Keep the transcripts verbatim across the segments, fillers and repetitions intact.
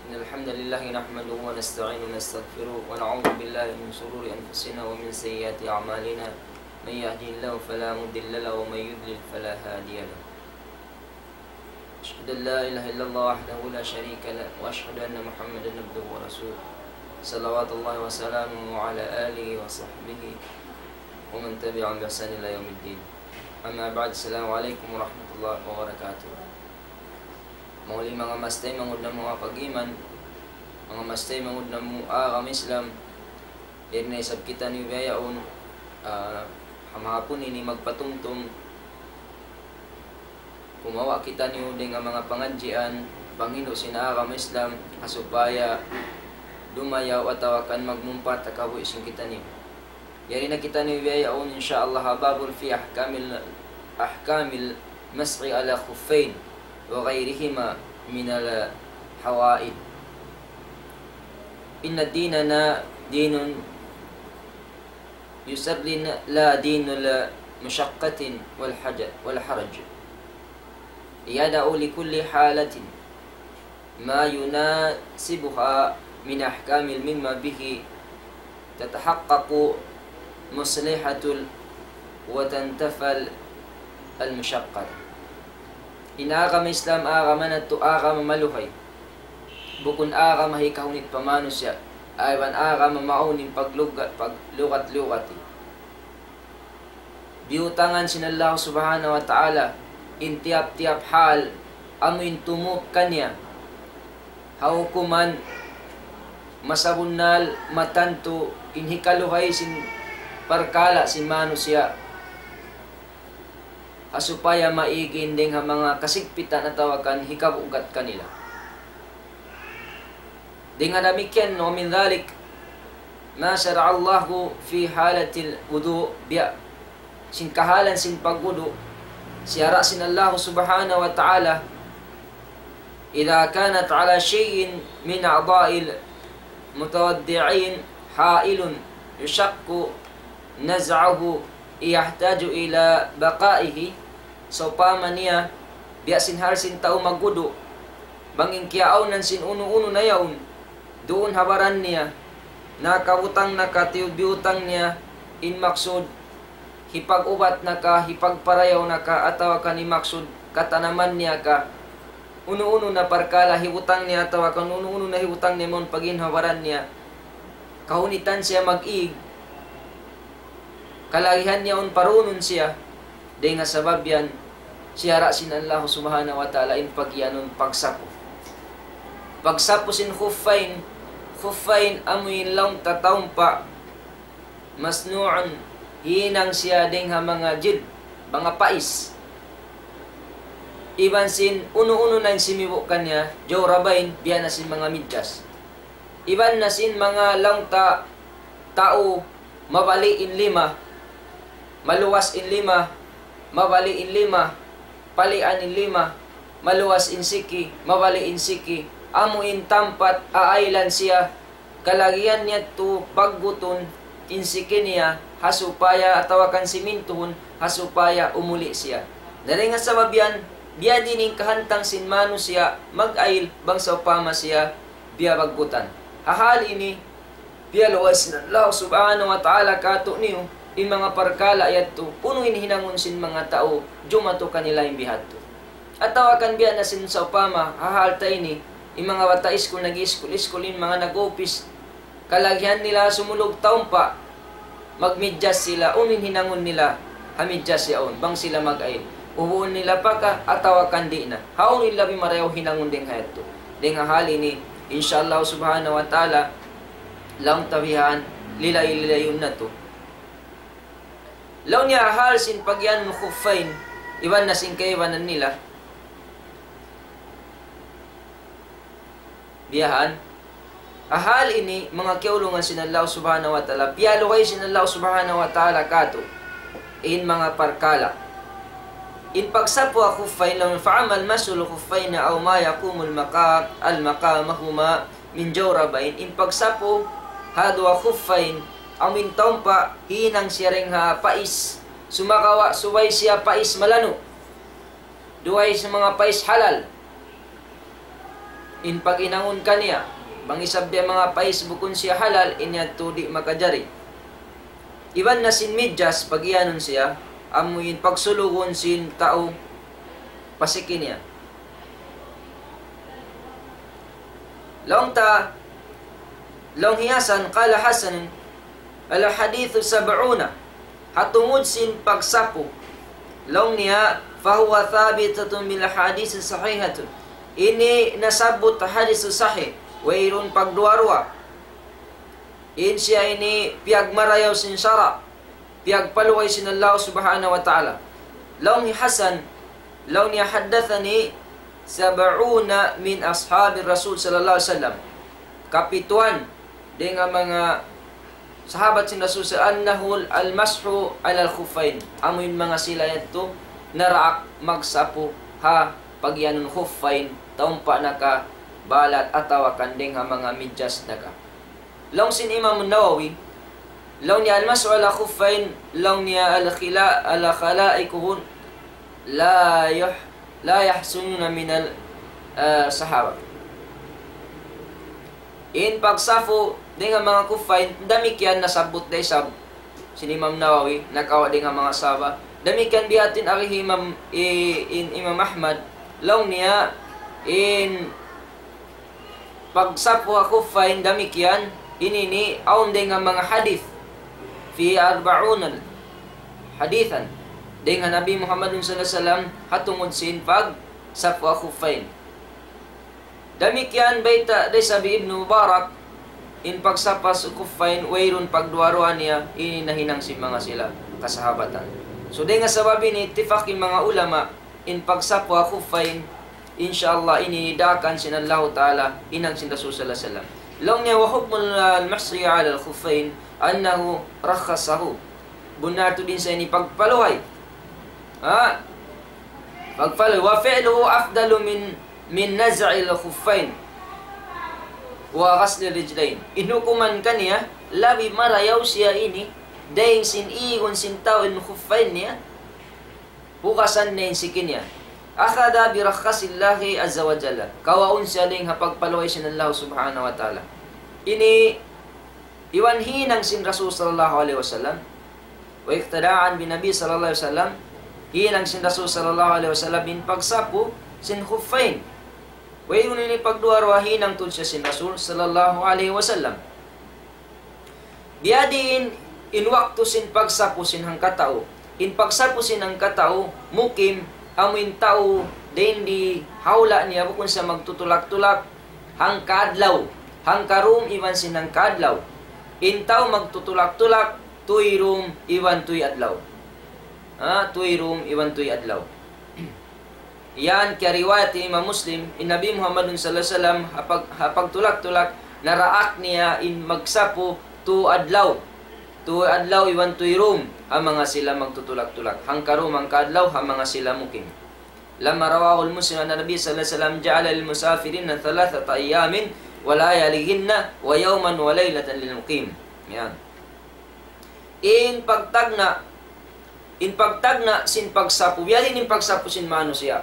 إن الحمد لله نحمده ونستعينه ونستغفره ونعوذ بالله من شرور أنفسنا ومن سيئات أعمالنا. من يهده الله فلا مضل له ومن يضلل فلا هادي له. أشهد أن لا إله إلا الله وحده لا شريك له وأشهد أن محمدا عبده ورسوله. صلوات الله وسلامه على آله وصحبه ومن تبعهم بإحسان إلى يوم الدين. أما بعد، السلام عليكم ورحمة الله وبركاته. Mawli manga mastay mangud namu' pag-iman, manga mastay mangud namu' agama Islam, yari na isab kitaniyu bihaun, ah, ha mahapun ini magpatumtum, kumawa' kitaniyu dayn ha manga pangadjian, panghindu' sin agama Islam, ha supaya dumayaw atawa kan magmungpat ha kabuhi' sin kitaniyu. Yari na kitaniyu bihaun, إن شاء الله, باب في أحكام ال-، أحكام المسح على الخفين وغيرهما من الحوائل. إن ديننا دين يسر لا دين المشقة والحج-، والحرج. يضع لكل حالة ما يناسبها من أحكام مما به تتحقق مصلحة ال-، وتنتفى المشقة. In agama Islam, agama natu', agama maluhay. Bukun agama hikahunit pa manusiya', iban agama maawn in pagluga-, paglugat-lugati. Biyutangan sin Allah Subhanahu wa Ta'ala in tiyap-tiyap hal amu in tumup kaniya ha hukuman masabunnal matantu in hikaluhay sin parkala' sin manusiya', ha supaya maig in dayn ha manga kasigpitan atawa kan hikabugat kanila. Dayn ha damikkiyan, ومن ذلك ما شرع الله في حالة الوضوء, biya' sin kahalan sin pagwudu', siyara' sin Allah Subhanahu wa Ta'ala, إذا كانت على شيء من أعضاء المتوضعين حائل يشق نزعه يحتاج إلى بقائه, sawpama niya, biya' sin hal sin tau magwudu', bang in kiyaawnan sin unu-unu na yaun, duun ha baran niya, nakabutang na ka, tiyubiyutang niya, in maksud, hipag-ubat na ka, hipagparayaw na ka, atawa kan in maksud, katanaman niya ka, unu-unu na parkala' hibutang niya, atawa kan unu-unu na hibutang niya mawn pag-in ha baran niya, kahunitan siya mag-ig, kalagihan niya awn parunun siya, dayn ha sabab yan, siyara' sin Allah Subhanahu wa Ta'ala in pagiyanun pagsapu. Pagsapu sin khuffayn, khuffayn amu in laung ta taumpa', مصنوع, hinang siya dayn ha manga jilb, manga pais. Iban sin unu-unu na in simibu' kaniya, jawrabayn, biya' na sin manga midjas. Iban na sin manga laung ta tau mabali' in lima, maluwas in lima, mabali' in lima, palian in lima, maluwas in siki, mabali' in siki, amu in tampat aaylan siya, kalagihan niya tu paggutun in siki niya, ha supaya atawa kan simintuhun, ha supaya umuli' siya. Na dayn ha sabab yan, biya' diin in kahantang sin manusiya' mag-ayl bang sawpama siya biyabaggutan. Ha hal ini, piyaluwas sin Allah Subhanahu wa Ta'ala kātu'niyu in manga parkala' yadtu, unu in hinangun sin manga tau jumatu kanila in bihadtu. Atawa kan biya' na sin sawpama, ha hal ta ini, in manga bata' iskul, nag-iskul-iskul, in manga nag-upis, kalagihan nila sumulug taumpa', magmidjas sila, unu in hinangun nila ha midjas yaun, bang sila mag-ayl. Ubuun nila pa ka, atawa kan di' na. Hawnu in labi marayaw hinangun dayn ha yadtu. Dayn ha hal ini, insha Allah Subhanahu wa Ta'ala, laung ta bihan, lilay-lilayun natu'. Laung niya hal sin pagiyanun khuffayn, iban na sin kaibanan nila. Biyahan. Ha hal ini, manga kiyaulungan sin Allah Subhanahu wa Ta'ala, piyaluhay sin Allah Subhanahu wa Ta'ala kātu' in manga parkala'. In pagsapu ha khuffayn, laung, فأما مسح الخفين أو ما يقوم المقام، المقامهما من جوربين, in pagsapu ha duwa khuffayn, amu in taumpa hinang siya dayn ha pais, sumagawa' subay siya pais malanu'. Duwa isab manga pais halal. In pag-inangun kaniya, bang isab biya' manga pais bukun siya halal, in yadtu di' makajari. Iban na sin midjas, pag-iyanun siya, amu in pagsulugun sin tau pasiki niya. Laung ta, laung hi Hasan, قال حسن: الحديث سبعون. Ha tungud sin pagsapu. Laung niya, فهو ثابتة بالأحاديث الصحيحة. Ini nasabbut hadis sahih. Wayruun pagduwa-ruwa. In siya ini piyagmarayaw sin sara'. Piyagpaluhay sin Allah Subhanahu wa Ta'ala. Laung hi Hasan, laung niya, حدثني سبعون من أصحاب الرسول صلى الله عليه وسلم. Kapituan dayn ha manga sahabat sin Rasul sa أنه المسح على الخفين. Amu in manga sila yadtu naraak magsapu ha pag-iyanun khuffayn, taumpa naka balat atawa kan dayn ha manga midjas naka. Laung sin Imam Nawawi, laung niya المسح على الخفين, laung niya الخلا-، الخلائق لا يح-، لا يحسنون من ال-، ah, sahaba. In pagsapu dayn ha manga khuffayn, damikkiyan nasabbut da isab sin Imam Nawawi, nakawa' dayn ha manga sahaba. Damikkiyan biya' ha yan in agi hi Imam, i-, in Imam Ahmad, laung niya, in pagsapu ha khuffayn damikkiyan, ini ini awn dayn ha manga hadith, فيه أربعون حديثا, dayn ha Nabi Muhammad صلى الله عليه وسلم ha tungud sin pagsapu ha khuffayn. Damikkiyan bayta' da isab hi Ibnu Mubarak, in pagsapu ha khuffayn wayruun pagduwa-ruwa niya, ini nahinang sin manga sila kasahabatan. So, dayn ha sabab ini, ittifaq in manga ulama, in pagsapu ha khuffayn, insya Allah, ini daakan sin Allahu Ta'ala, hinang sin Rasul صلى الله عليه وسلم. Laung niya, وحكم المسح على الخفين أنه رخصه. Bunnal tuud in sa ini pagpaluhay. Ha? Pagpaluhay. وفعله أفضل من، من نزع الخفين وغسل الرجلين. In hukuman kaniya, labi marayaw siya ini, dayn sin igun sin tau in khuffayn niya, hugasan niya in siki niya. أخذ برخص الله عز وجل. Kawaun siya dayn ha pagpaluhay sin Allah Subhanahu wa Ta'ala. Ini iban hinang sin Rasul صلى الله عليه وسلم. واقتداء بالنبي صلى الله عليه وسلم. Hinang sin Rasul صلى الله عليه وسلم in pagsapu sin khuffayn. Wayruun ini pagduwa-ruwa, hinang tuud siya sin Rasul صلى الله عليه وسلم. Biyadiin in waktu sin pagsapu sin hangkatau. In pagsapu sin hangkatau, mukim, amu in tau dayn di ha hula' niya, bukun siya magtutulak-tulak hangka adlaw, hangka dum iban sin hangka adlaw. In tau magtutulak-tulak, tūy dum iban tūy adlaw. Ha, tūy dum iban tūy adlaw. Yan kiyariwayat hi Imam Muslim, in Nabi Muhammadun صلى الله عليه وسلم, ha pag-, ha pagtulak-tulak, naraak niya in magsapu tū adlaw. Tū adlaw iban tūy dum, ha manga sila magtutulak-tulak. Hangka dum, hangka adlaw, ha manga sila mukim. لما رواه مسلم أن النبي صلى الله عليه وسلم جعل للمسافرين ثلاثة أيام ولياليهن ويوما وليلة للمقيم. Yan. In pagtagna', in pagtagna' sin pagsapu, biyadiin in pagsapu sin manusiya'.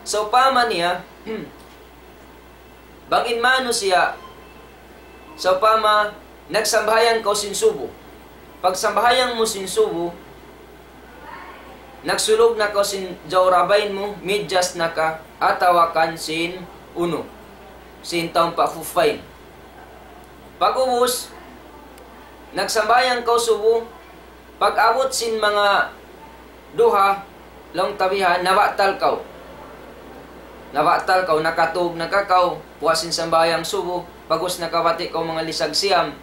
Sawpama niya, bang in manusiya', sawpama nagsambahayang kaw sin subu. Pagsambahayang mu sin subu, nagsulug na kaw sin jawrabayn mu, midjas na ka, atawa kan sin unu, sin taumpa khuffayn. Pag'ubus, nagsambahayang kaw subu, pag-abut sin manga duha, laung ta bihan, nabatal kaw. Nabatal kaw, nakatug na ka kaw, puas sin sambahayang subu, pag'ubus nakabati' kaw manga lisag siyam,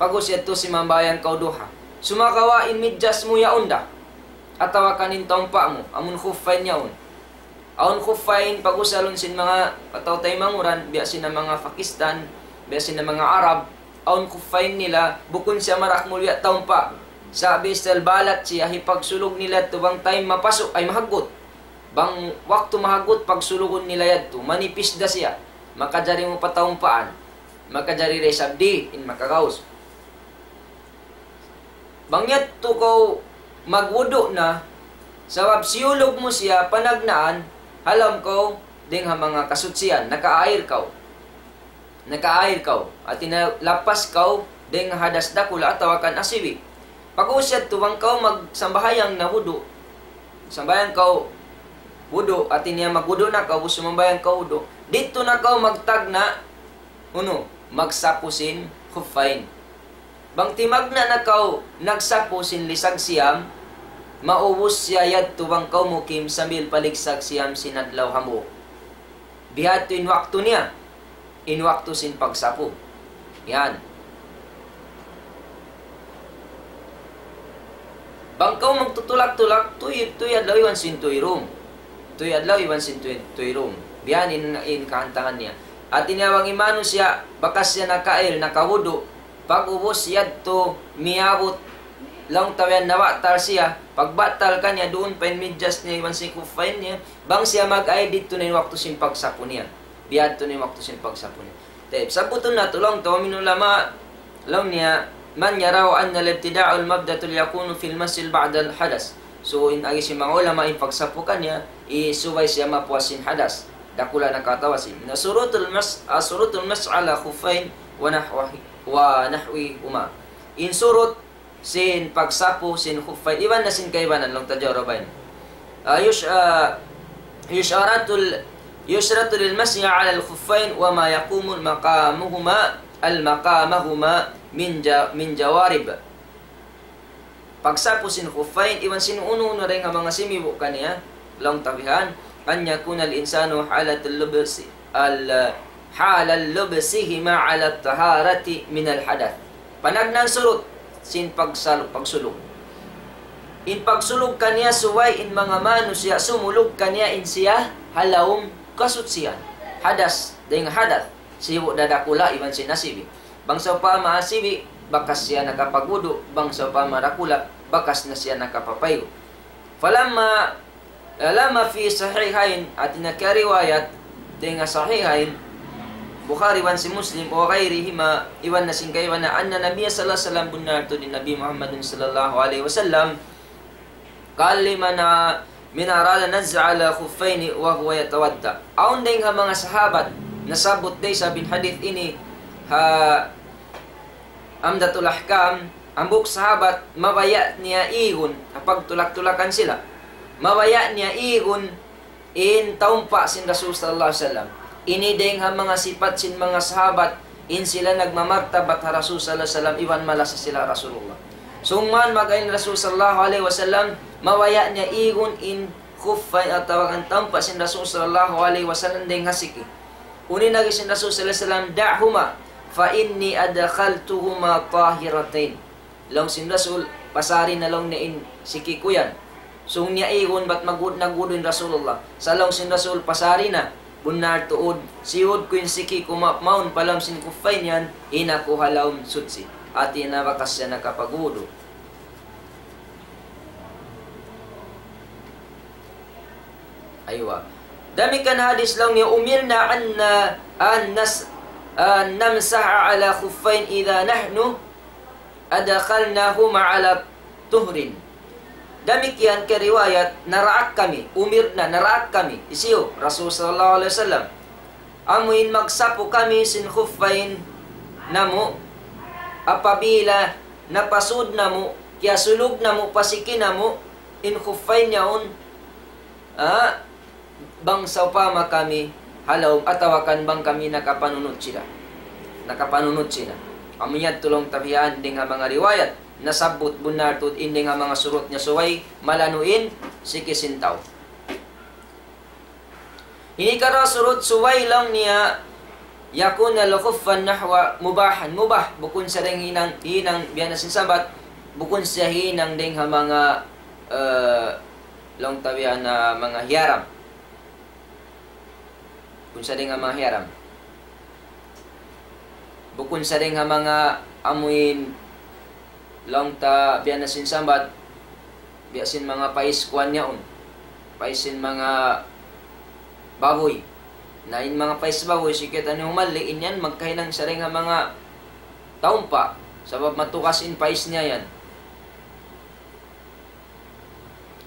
pag'ubus yadtu simambahayang kaw duha. Sumagawa' in midjas mu yaun da, atawa kan in taumpa mu, amun khuffayn yaun. Awn khuffayn pag-usalun sin manga kataw-taymanghuran, biya' sin manga Pakistan, biya' sin manga Arab, awn khuffayn nila, bukun siya marak mu biya' taumpa. Sa' biya' sin balat siya, hipagsulug nila yadtu bang time mapasu' ay mahaggut. Bang waktu mahaggut, pagsulugun nila yadtu, manipis da siya. Makajari mu pataumpaan. Makajari da isab di', in makagaus. Bang yadtu kaw magwudu' na, sabab siyulug mu siya panagnaan, ha lawm kaw dayn ha manga kasuchian, nakaair kaw. Nakaair kaw. Hati niya lapas kaw dayn ha hadas dakula' atawa kan asibi'. Pag'ubus yadtu bang kaw magsambahayang na wudu'. Sambahayang kaw wudu', hati niya magwudu' na kaw, ubus sumambahayang kaw wudu'. Didtu na kaw magtagna', unu, magsapu sin khuffayn. Bang timagna' na kaw nagsapu sin lisag siyam, maubus siya yadtu bang kaw mukim sambil paligsag siyam sin adlaw hambuuk. Bihadtu in waktu niya, in waktu sin pagsapu. Yan. Bang kaw magtutulak-tulak, tuy, tuy adlaw iban sin tuyrum. Tuy adlaw iban sin tuy, tuyrum. Biya' yan in, in kahantangan niya. Hati niya bang in manusiya', bakas siya nakaair, nakawudu', pag'ubus yadtu miyabut, laung ta biya' yan nabatal siya, pagbatal kaniya duun pa in medyas niya iban sin khuffayn niya, bang siya mag-air didtu na in waktu sin pagsapu niya. Bihadtu na in waktu sin pagsapu niya. Tayyib, sabbutun natu' laung ta, ومن العلماء, laung niya, من يرى أن الابتداء المبدأ يكون في المسح بعد الحدث. So, in agi sin manga ulama, in pagsapu kaniya, isubay siya mapuas sin hadas. Dakula' na ka atawa asibi'. Na شروط المسح، شروط المسح على الخفين ونحوه، ونحوهما. In surut sin pagsapu sin khuffayn, iban na sin kaibanan, laung ta jawrabay. Ah, yush-, ah, يشترط ال-، يشترط للمسح على الخفين وما يقوم مقامهما، المقامهما من ج-، من جوارب. Pagsapu sin khuffayn, iban sin unu-unu dayn ha manga simibu' kaniya, laung ta bihan, أن يكون الإنسان حالة اللبس، ال-، حال لبسهما على الطهارة من الحدث. Panagnaan surut sin pagsal-, pagsulug. In pagsulug kaniya subay in manga manusiya' sumulug kaniya in siya ha lawm kasuchian. Hadas, dayn ha hadas. Sibu' da dakula' iban sin asibi'. Bang sawpama asibi', bakas siya nakapagwudu', bang sawpama dakula', bakas na siya nakapapaygu'. فلما، لما في الصحيحين, hati niya kariwayat dayn ha Sahihayn, Bukhari iban sin Muslim, وغيرهما, iban na sin kaibanan, أن النبي صلى الله عليه وسلم, bunnal tuud in Nabi Muhammadun sallallahu alayhi wasallam, قال لمن، من أراد النزع على الخفين وهو يتوضأ. Awn dayn ha manga sahabat, nasabbut da isab in hadith ini ha Umdatul Ahkam, hambuuk sahabat, mabaya' niya igun, ha pagtulak-tulakan sila. Mabaya' niya igun, in taumpa' sin Rasul sallallahu alayhi wasallam. Ini dayn ha manga sipat sin manga sahabat, in sila nagmamartabat ha Rasul sallallahu alayhi wasallam, iban malasa sila ha Rasulullah. Summan mag-ayn Rasul sallallahu alayhi wasallam, mabaya' niya igun in khuffayn atawa kan taumpa' sin Rasul sallallahu alayhi wasallam dayn ha siki. Unu in agi sin Rasul sallallahu alayhi wasallam, دعهما فإني أدخلتهما طاهرتين. Laung sin Rasul, pasari na laung niya in siki ku yan. Sung niya igun bat magud-, nagwudu' in Rasulullah. Sa' laung sin Rasul, pasari na. Bunnal tuud, siyud ku in siki ku ma-, mawn pa lawm sin khuffayn yan, in aku ha lawm suchi. Hati niya bakas siya nakapagwudu'. Aywa. Damikkiyan hadith laung niya, أمرنا أن، أن نس-، أن نمسح على الخفين إذا نحن أدخلناهما على طهر. Damikkiyan kariwayat, naraak kami, umirna, naraak kami, hisiyu, Rasul sallallahu alayhi wasallam. Amu in magsapu kami sin khuffayn namu', apabila napasud namu', kiyasulug namu', pa siki namu', in khuffayn yaun, ah, bang sawpama kami ha lawm atawa kan bang kami nakapanunut sila. Nakapanunut sila. Amu yadtu laung ta bihan dayn ha manga riwayat, nasabbut bunnal tuud in dayn ha manga surut niya subay, malanu in siki sin tau. Ini kara surut subay laung niya يكون الخف نحو مباحا. Mubah, bukun siya dayn hinang, hinang biya' na sin sabat, bukun siya hinang dayn ha manga, eh, laung ta biya' na manga hiyaram. Bukun siya dayn ha manga hiyaram. Bukun siya dayn ha manga amuin laung ta biya' na sin sabat, biya' sin manga pais kuwan yaun. Pais sin manga babuy. Na in manga pais babuy, sikit ani humalli', in yan magkahinang siya dayn ha manga taumpa'. Sabab matugas in pais niya yan.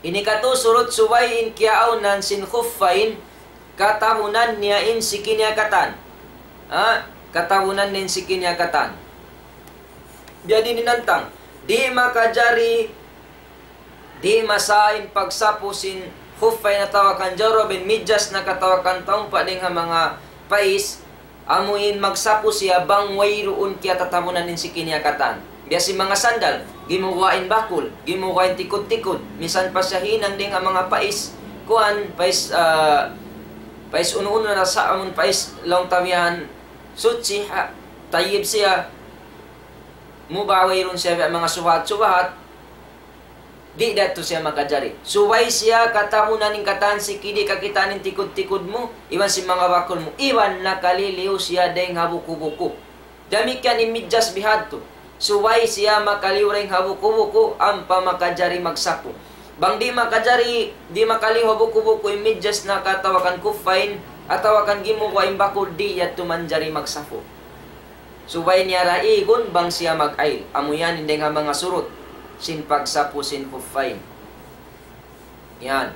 Ini katu' surut subay in kiyaawnan sin khuffayn, katabunan niya in siki niya katan. Ha? Katabunan niya in siki niya katan. Biya' diin in hantang. Di' makajari, di' masa in pagsapu sin khuffayn atawa kan jawrab in midjas na katawa kan taumpa' dayn ha manga pais, amu in magsapu siya bang wayruun kiyatatabunan in siki niya katan. Biya' sin manga sandal, gimuwa' in bakul, gimuwa' in tikud-tikud, misan pa siya hinang dayn ha manga pais, kuwan, pais, ah, pais unu-unu na sa amun pais laung ta bihan, suchi, ha, tayyib siya, mubah wayruun siya biya' manga subahat-subahat, di' da tu siya makajari. Subay siya katabunan in katan siki di' kakitaan in tikud-tikud mu, iban sin manga bakul mu, iban nakaliliyu siya dayn ha buku-buku. Damikkiyan in midjas bihadtu. Subay siya makaliyu dayn ha buku-buku, ampa makajari magsapu. Bang di' makajari, di' makaliyu ha buku-buku in midjas na katawa kan khuffayn, atawa kan gimuwa' in bakul, di' yadtu manjari magsapu. Subay niya ra igun bang siya mag-ayl. Amu yan in dayn ha manga surut sin pagsapu sin khuffayn. Yan.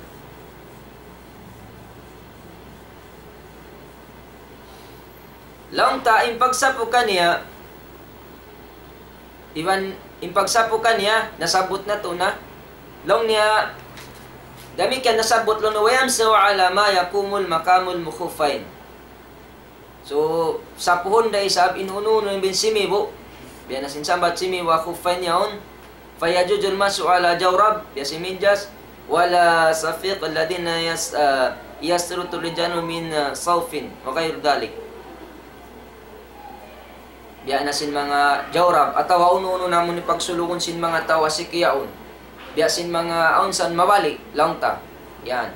Laung ta in pagsapu kaniya, iban in pagsapu kaniya, nasabbut natu' na. Laung niya, damikkiyan nasabbut laung niya, ويمسح على ما يقوم مقام الخفين. So, sapuhun da isab in unu-unu in bin simibu'. Biya' na sin sambat simibu' ha khuffayn yaun. فيجوز المسح على جورب, biya' sin midjas. ولا صفيق الذين يس-, ah, يسترون رجالهم من, ah, صوف وغير ذلك. Biya' na sin manga jawrab, atawa unu-unu na amun pagsulugun sin manga tau ha siki yaun. Biya' sin manga awn san mabalik, laung ta. Yan.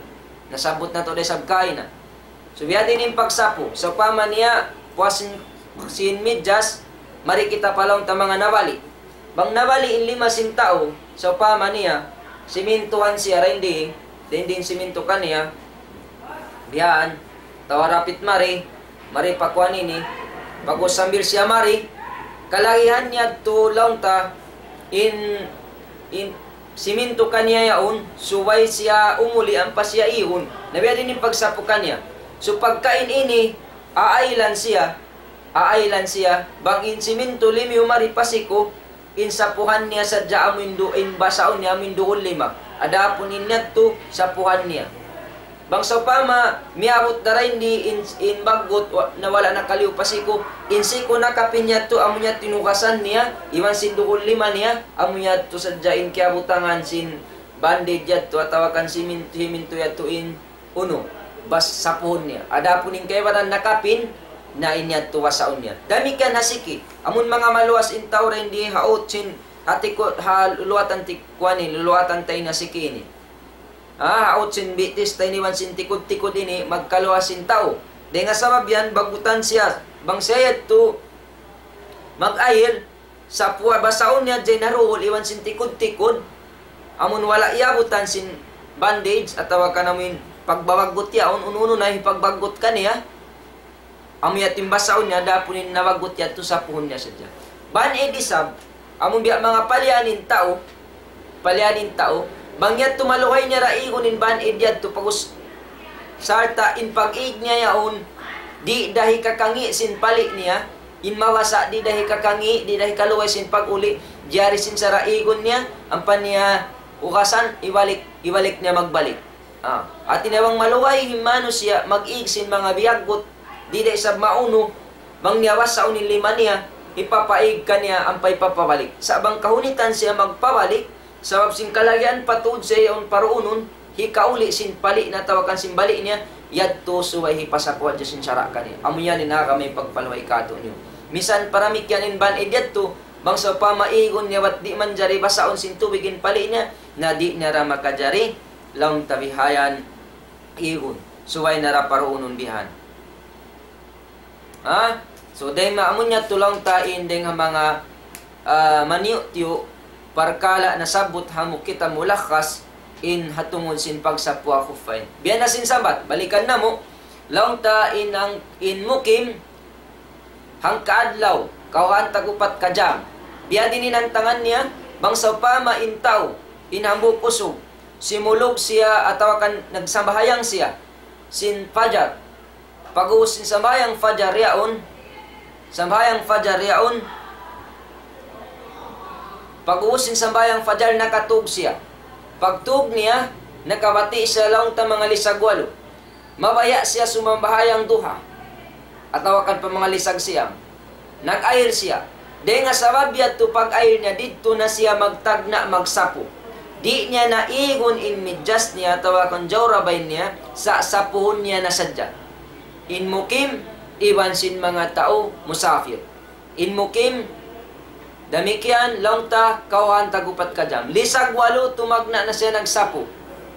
Nasabbut natu' da isab kaina. So, biya' diin in pagsapu. Sawpama niya, puas sin, sin midjas, mari kita pa laung ta manga nabali'. Bang nabali' in lima sin tau, sawpama niya, simintuhan siya, dayn di, dayn di in simintu kaniya, biya' yan, atawa rapit mari, mari pa kuwan ini, pag-ubus sambil siya mari, kalagihan niya tu laung ta, in, in, simintu kaniya yaun, subay siya umuli' ampa siya igun. Na biya' diin in pagsapu kaniya. So pagka in ini, aaylan siya, aaylan siya, bang in simintu limiyu mari pa siku, in sapuhan niya sadja amu in du-, in basaun niya amu in duun lima. Adapun in yadtu, sapuhan niya. Bang sawpama, miyabut da dayn di in, in baggut wa-, na wala' nakaliyu pa siku, in siku nakapin yadtu, amu yadtu in ugasan niya, iban sin duun lima niya, amu yadtu sadja in kiyabutangan sin bandage yadtu, atawa kan simin-, simintu yadtu in unu, bas sapuhun niya. Adapun in kaibanan nakapin, na in yadtu basaun niya. Damikkiyan ha siki, amun manga maluwas in tau dayn di ha ut sin, ha tiku-, ha luluwatan ti-, kuwan ini, luluwatan ta ini ha siki ini. Ah, ha ut sin bitis ta ini iban sin tikud-tikud ini, magkaluwas in tau. Dayn ha sabab yan, baggutan siya. Bang siya yadtu mag-ayl, sapuha basaun niya hadja in ha duhul iban sin tikud-tikud. Amun wala' iyabutan sin bandage atawa kan amu in pagbabaggut yaun, unu-unu na in pagbaggut kaniya. Amu yadtu in basaun niya, adapun in nabaggut yadtu sapuhun niya sadja. Band-aid isab, amun biya' manga palian in tau, palian in tau, bang yadtu maluhay niya ra igun in band-aid yadtu, pag-ubus, sarta' in pag-ig niya yaun, di' da hikakangi' sin pali' niya, in mabasa' di' da hikakangi', di' da hikaluhay sin pag-uli', jari sin sara' igun niya, ampa niya ugasan, ibalik, ibalik niya magbalik. Ah, hati niya bang maluhay in manusiya' mag-ig sin manga biyaggut, di' da isab maunu, bang niya basaun in lima niya, hipapaig kaniya ampa hipapabalik. Sa' bang kahunitan siya magpabalik, sabab sin kalagihan pa tuud siya yaun paruunun, hikauli' sin pali' na atawa kan sin bali' niya, yadtu subay hipasapu hadja sin sara' kaniya. Amu yan in agama in pagpaluhay kātu'niyu. Misan paramikkiyan in band-aid yadtu, bang sawpama igun niya bat di' manjari basaun sin tubig in pali' niya, na di' niya ra makajari, laung ta bihayan igun. Subay na ra paruunun bihan. Ha? So, dayn ha amu yadtu laung ta in dayn ha manga, ah, maniyu'-tiyu' parkala' nasabbut ha mu kitab Mulakhas in ha tungud sin pagsapu ha khuffayn. Biya' na sin sambat, balikan namu', laung ta in ang, in mukim, hangka adlaw, kawhaan tag-upat ka jam. Biya' diin in hantangan niya, bang sawpama in tau, in hambuuk usug, simulug siya atawa kan nagsambahayang siya. sin fajar. Pag'ubus sin sambahayang fajar yaun, sambahayang fajar yaun, pag'ubus sin sambahayang fajar nakatug siya. Pagtug niya, nakabati' siya laung ta manga lisag walu. Mabaya' siya sumambahayang duha, atawa kan pa manga lisag siyam. Nag-ayil siya. Dayn ha sabab yadtu pag-ayil niya, didtu na siya magtagna' magsapu. Di' niya na igun in midjas niya atawa kan jawrabayn niya, sa' sapuhun niya na sadja. In mukim, iban sin manga tau musafir. In mukim, damikkiyan, laung ta, kawhaan tag-upat ka jam. Lisag walu, tumagna' na siya nagsapu.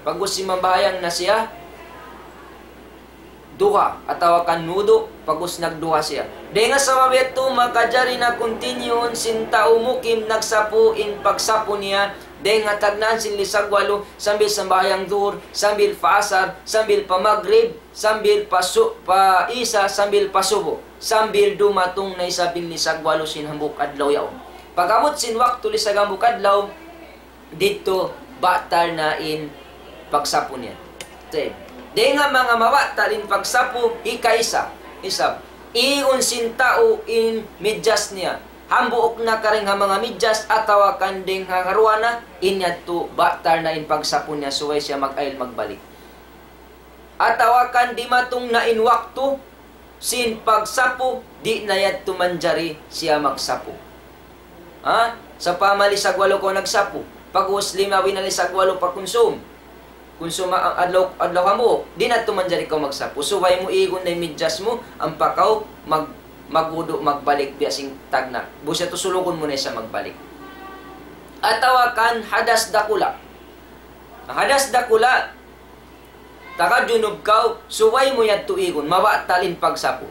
Pag'ubus simambahayang na siya, duha, atawa kan wudu', pag'ubus nagduha siya. Dayn ha sabab yadtu, makajari na continue sin tau mukim nagsapu in pagsapu niya, dayn ha tagnaan sin lisag walu, sambil sambahayang duhur, sambil pa asar, sambil pa magrib, sambil pa su-, pa isa, sambil pa subu, sambil dumatung na isab in lisag walu sin hambuuk adlaw yaun. Pag-abut sin waktu lisag hambuuk adlaw, didtu batal na in pagsapu niya. Tayyib. Dayn ha manga mabatal in pagsapu, hikaisa, isab, igun sin tau in midjas niya. Hambuuk na karing ha manga midjas atawa kan dayn ha karuwa na, in yadtu batal na in pagsapu niya, subay siya mag-ayil magbalik. Atawa kan dimatung na in waktu sin pagsapu, di' na yadtu manjari siya magsapu. Ha? Sawpama lisag walu kaw nagsapu, pag'ubus lima bina lisag walu pa kunsum. Kunsum a-, adlaw, adlaw hambuuk, di' na yadtu manjari kaw magsapu. Subay mu igun na in midjas mu, ampa kaw mag-, magwudu', magbalik biya' sin tagna'. Busa tu sulugun mu na isab magbalik. Atawa kan hadas dakula'. Hadas dakula', takajunub kaw, subay mu yadtu igun, mabatal in pagsapu.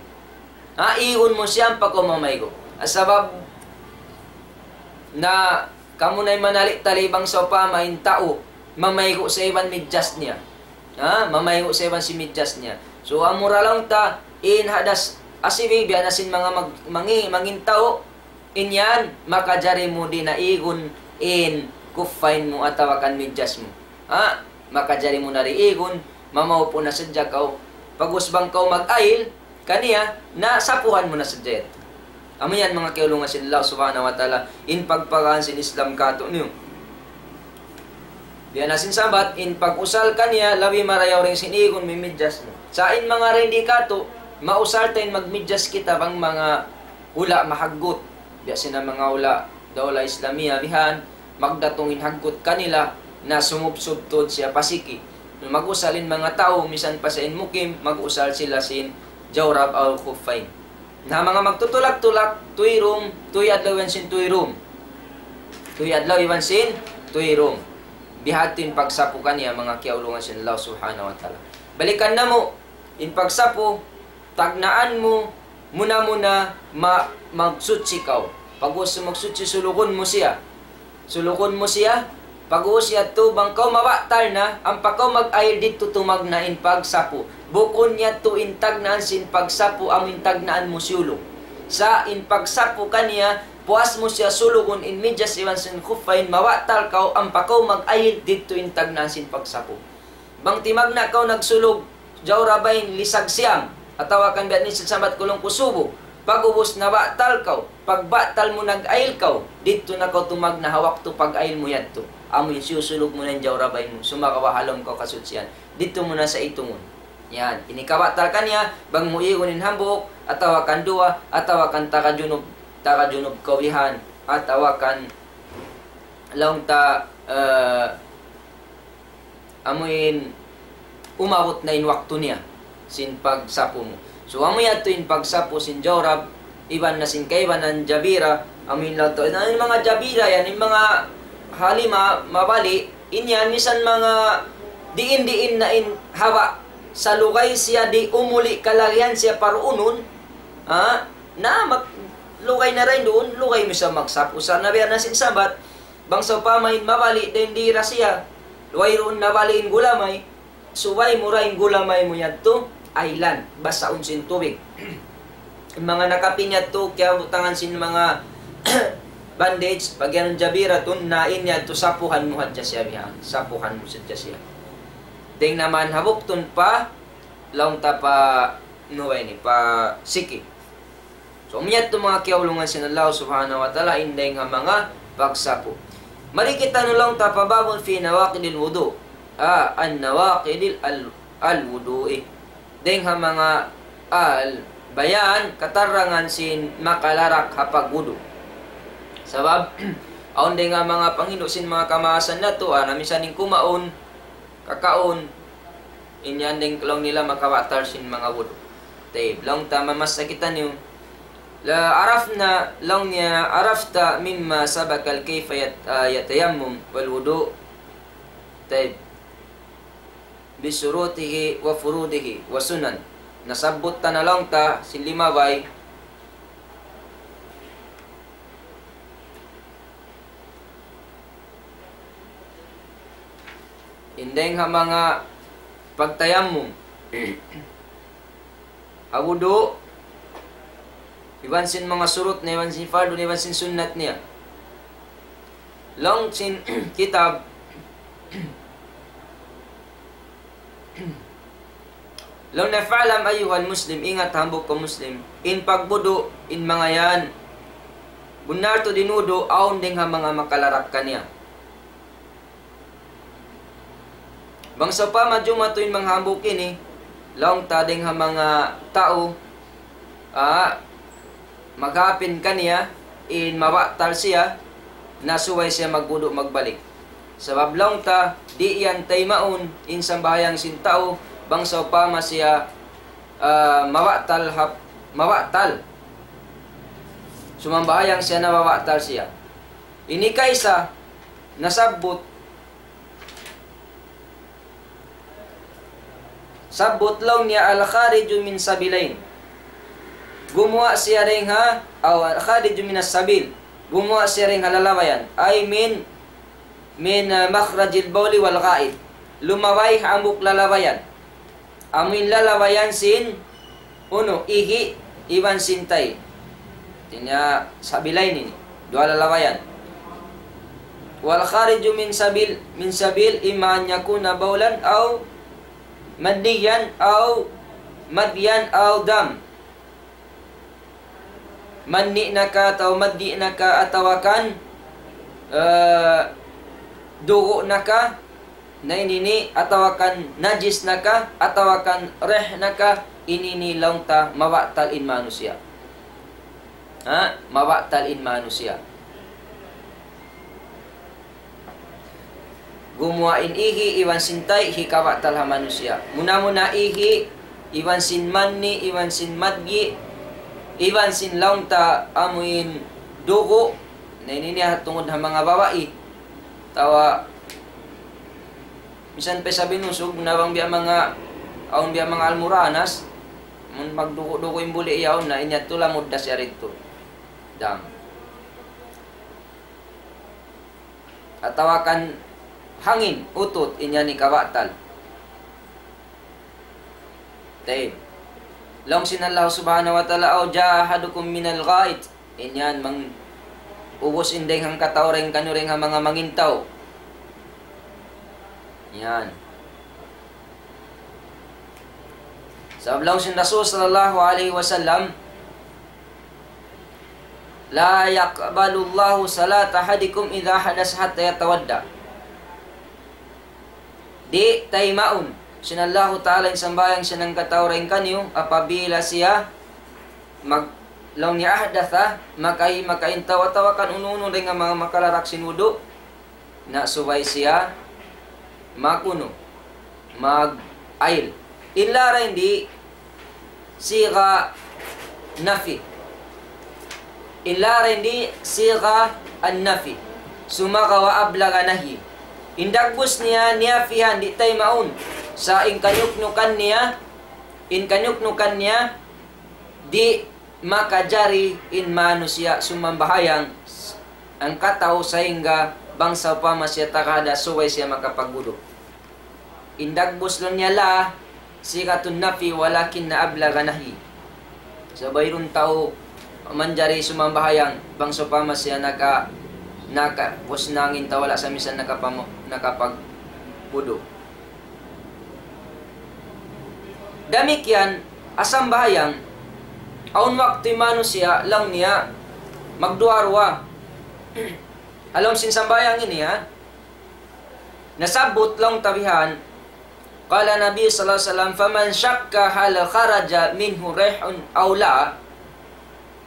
Ha, igun mu siya ampa kaw mamaygu'. Sabab na kamu na in manali'-tali bang sawpama in tau mamaygu' sa iban midjas niya. Ha, mamaygu' sa iban sin midjas niya. So, amura laung ta, in hadas asibi, biya' na sin manga mag-, mangi-, mangin tau, in yan, makajari mu di' na igun in kuffayn mu atawa kan midjas mu. Ha? Makajari mu na di' igun, mamaupu' na sadja kaw. Pag'ubus bang kaw mag-ayil kaniya, na sapuhan mu na sadja yadtu. Amu yan, manga kiyaulungan sin Allah Subhanahu wa Ta'ala, in pagparahan sin Islam kātu'niyu. Biya' na sin sambat, in pag-usal kaniya, labi marayaw dayn sin igun mu, midjas mu. Sa' in manga dayn di kātu', mausal ta in magmidjas kita bang manga hula' mahaggut. Biya' sin manga hula' Dawla Islamiya bihan, magdatung in haggut kanila na sumubsub tuud siya pa siki. Mag-usal in manga tau, misan pa siya in mukim, mag-usal sila sin jawrab aw khuffayn. Na manga magtutulak-tulak, tuyrum, tuy adlaw iban sin tuyrum. Tuy adlaw iban sin tuyrum. Bihadtu in pagsapu kaniya, manga kiyaulungan sin Allah Subhanahu wa Ta'ala. Balikan namu', in pagsapu, tagnaan mu, muna-muna, ma-, magsuchi kaw. Pag'ubus magsuchi, sulugun mu siya. Sulugun mu siya. Pag'ubus yadtu, bang kaw mabatal na, ampa kaw mag-ayil, didtu tumagna' in pagsapu. Bukun yadtu in tagnaan sin pagsapu, amu in tagnaan mu siyulug. Sa' in pagsapu kaniya, puas mu siya sulugun in midjas iban sin khuffayn, mabatal kaw, ampa kaw mag-ayil, didtu in tagnaan sin pagsapu. Bang timagna' kaw nagsulug jawrabayn lisag siyam, atawa kan biya' ni sin sambat ku laung ku subu, pag'ubus nabatal kaw, pagbatal mu nag-ayil kaw, didtu na kaw tumagna' ha waktu pag-ayil mu yadtu. Amu in siyusulug mu na in jawrabayn mu, sumagawa' ha lawm kaw kasuchian. Didtu mu na sa itungun. Yan, ini kabatal kaniya, bang mu igun in hambuuk, atawa kan duwa, atawa kan takajunub, takajunub kaw bihan, atawa kan laung ta, eh, amu in umabut na in waktu niya sin pagsapu mu. So, amu yadtu in pagsapu sin jawrab, iban na sin kaibanan jabira, amu in laung ta, na in manga jabira yan, in manga halima, mabali', in yan, misan manga diin-diin na in haba', sa lugay siya di' umuli' kalagihan siya paruunun, ha? Na, mag-, lugay na dayn duun, lugay mu sa magsapu. Sa' nabiya' na sin sambat, bang sawpama in mabali' dayn dira siya, wayruun nabali' in gulamay, subay mu ra in gulamay mu yadtu, aylan, basaun sin tubig. In manga nakapin yadtu, kiyabutangan sin manga bandage, pag'iyanun jabiratun, na in yadtu sapuhan mu hadja siya bihan, sapuhan mu sadja siya. Dayn naman ha buktun pa, laung ta pa nuwa ini, pa siki. So, amu yadtu manga kiyaulungan sin Allah Subhanahu wa Ta'ala, in dayng ha manga pagsapu. Mari kita nu laung ta pa باب في نواقض الوضوء. Ah, عن نواقض ال-، الوضوء. Dayng ha manga al-bayan, katarangan sin makalarak ha pagwudu'. Sabab, awn dayng ha manga panghindu' sin manga kamaasan natu', ah, na minsan in kumaun, kakaun, in yan dayng laung nila makabatal sin manga wudu'. Tayyib, laung ta mamassa kitaniyu. La arafna, laung niya, arafta mimma sabaka al-kayfa yat-, ah, yatayammum wal wudu'. Tayyib. Bi shurutihi wa furudihi wa sunan. Nasabbut ta na laung ta sin limabay. In dayng ha manga pagtayammum ha wudu', iban sin manga surut niya, iban sin fardu niya, iban sin sunnat niya. Laung sin kitab, laung niya, فاعلم أيها المسلم, ingat hambuuk kaw Muslim, in pagwudu', in manga yan, bunnal tuud in wudu', awn dayng ha manga makalarak kaniya. Bang sawpama jumatu in manga hambuuk ini, laung ta dayng ha manga tau, ah, maghapin kaniya, in mabatal siya, na subay siya magwudu' magbalik. Sabab laung ta, di' yan taymaun, in sambahayang sin tau, bang sawpama siya, ah, mabatal hap-, mabatal. Sumambahayang siya na mabatal siya. Ini kaisa, nasabbut, sabbut laung niya الخارج من سبيلين. Gumuwa' siya dayng ha, aw الخارج من السبيل. Gumuwa' siya dayng ha lalawayan. Ay من, من مخرج البول والغائط. Lumabay hambuuk lalawayan. Amu in lalawayan sin unu, ihi' iban sin tay. Hātinya sabilayn ini, duwa lalawayan. والخارج من سبيل، من سبيل إما أن يكون بولا أو مذيا أو مذيا أو دم. Manni' na ka atawa maddi' na ka atawa kan, eh, dugu' na ka, na ini ini, atawa kan najis na ka, atawa kan rih na ka, ini ini laung ta mabatal in manusiya'. Ha? Mabatal in manusiya'. Gumuwa' in ihi' iban sin tay hikabatal ha manusiya'. Muna-muna ihi', iban sin manni', iban sin madgi', iban sin laung ta amuin dugu', na ini niya tungud ha manga babai. Atawa, misan pa isab in usug, na bang biya' manga, awn biya' manga almuranas, mun magdugu'-dugu' in buli' yaun na, in yadtu lamud da siya didtu. Dam. Atawa kan hangin, utut, in yan hikabatal. Tayyib. Laung sin Allah Subhanahu wa Ta'ala, أو جاء أحدكم من الغائط. In yan, mang-, ubus in dayng hangkatau dayng kaniyu dayng ha manga mangintaw. Yan. Sabab laung sin Rasul sallallahu alayhi wasallam, لا يقبل الله صلاة أحدكم إذا أحدث حتى يتوضأ. Di' taymaun sin Allahu Ta'ala in sambahayang sin hangkatau dayng kaniyu apabila siya mag-, laung niya ahdatha, makai-, makaintaw atawa kan unu-unu dayng ha manga makalarak sin wudu', na subay siya mag-unu, mag-ayil. In laung di' sigha nafi. In laung di' sigha an-nafi. Sumagawa' ablagha nahyi. In dagbus niya, niyafihan, di' taymaun. Sa' in kanyuknukan niya, in kanyuknukan niya, di' makajari in manusiya' sumambahayang hangkatau sahingga bang sawpama siya tagahada subay siya makapagwudu'. In dagbus laung niya la, sighatun nafi walakin ablagha nahyi. Sa' wayruun tau manjari sumambahayang bang sawpama siya naka-, naka-, pus nangin tawala sa' misan nakapamo-, nakapagwudu'. Damikkiyan, ha sambahayang, awn waktu in manusiya', laung niya, magduwa-ruwa. Ha lawm sin sambahayang ini, ha? Nasabbut laung ta bihan, قال النبي صلى الله عليه وسلم: فمن شك هل خرج منه ريح أو لا.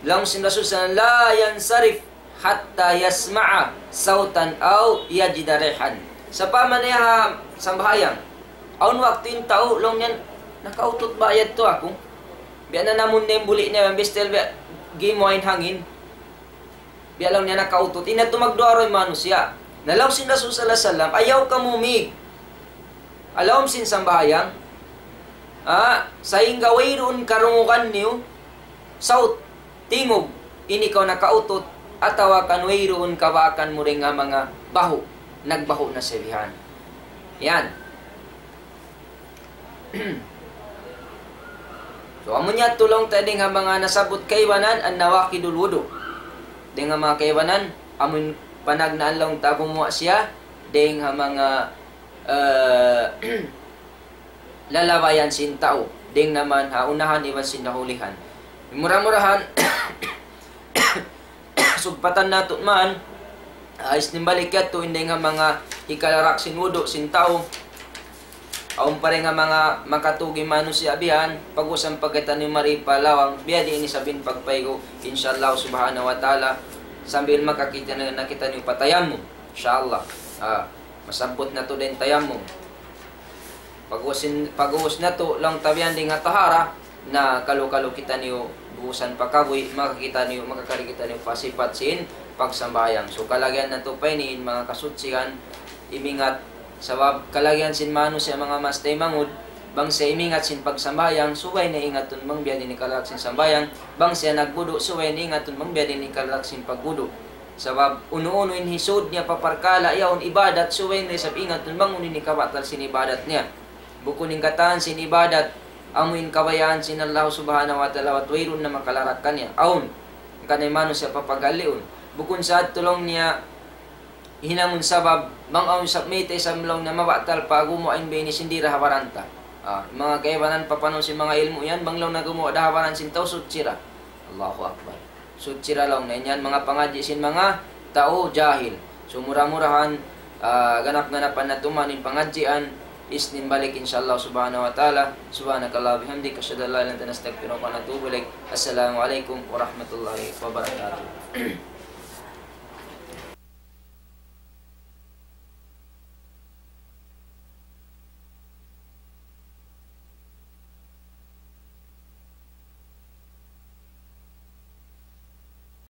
Laung sin Rasul sallallahu alayhi wasallam, لا ينصرف حتى يسمع صوتا أو يجد ريحا. Sawpama niya ha sambahayang, awn waktu in tau, laung niya, nakautut ba yadtu aku? Biya' na namun na in buli' niya, biya' still biya' gimuwa' in hangin. Biya' laung niya nakautut. Ina tu magduwa-ruwa in manusiya'. Na laung sin Rasul sallallahu alayhi wasallam, ayaw kamu mīg ha lawm sin sambahayang, ha, sahingga wayruun karungugan niyu, sawt, tingug, in ikaw nakautut, atawa kan wayruun kabaakan mu dayn ha manga bahu', nagbahu' na siya bihan. Yan. So, amu niya tuud laung ta dayn ha manga nasabbut kaibanan, an-nawaqidul wudu'. Dayn ha manga kaibanan, amun panagnaan laung ta gumuwa' siya, dayn ha manga, eh, lalabayan sin tau, dayn naman ha unahan iban sin nahulihan. Mura-murahan, sugpatan natu' man, ah, isnimbalik yadtu in dayn ha manga hikalarak sin wudu' sin tau. Awn pa dayn ha manga makatug in manusiya' bihan, pag-ubus ampa kitaniyu mari pa lawang, biya' diin isab in pagpaygu', insha Allah subhanahu wa ta'ala, sambil makakita na, na kitaniyu pa tayammum, insha Allah. Ah, masabbut natu' da in tayammum. Pag-ubus in, pag-ubus natu', laung ta bihan dayn ha tahara, na kalu-kalu kitaniyu buusan pa kabuhi', maka kitaniyu, makakari kitaniyu pa sipat sin pagsambahayang. So, kalagihan natu' pa ini in manga kasuchian, imingat, sabab kalagihan sin manusiya' manga maas taymanghud, bang siya imingat sin pagsambahayang, subay niya ingatun bang biya' diin in kalarak sin sambahayang, bang siya nagwudu', subay niya ingatun bang biya' diin in kalarak sin pagwudu'. Sabab unu-unu in hisūd niya pa parkala' yaun ibadat, subay niya isab ingatun bang unu in hikabatal sin ibadat niya. Bukun in katan sin ibadat, amu in kabayaan sin Allah subhanahu wa ta'ala, bat wayruun na makalarak kaniya. Awn, hangkan in manusiya' papagaliun. Bukun sa adtu laung niya hinangun sabab, bang awn isab mayta' isab laung niya mabatal pa gumuwa' in biya' ini sin di' da ha baran ta. Ah, manga kaibanan, papanun sin manga ilmu' yan, bang laung niya gumuwa' da ha baran sin tau, suchi da. Allahu Akbar. Suchi da laung niya, in yan manga pangadji' sin manga tau jahil. So, mura-murahan, ah, ganap-ganapan natu' man in pangadjian, isnimbalik, insha Allah subhanahu wa ta'ala. سبحانك اللهم وبحمدك، أشهد أن لا إله إلا أنت، نستغفرك ونتوب إليك. السلام عليكم ورحمة الله وبركاته.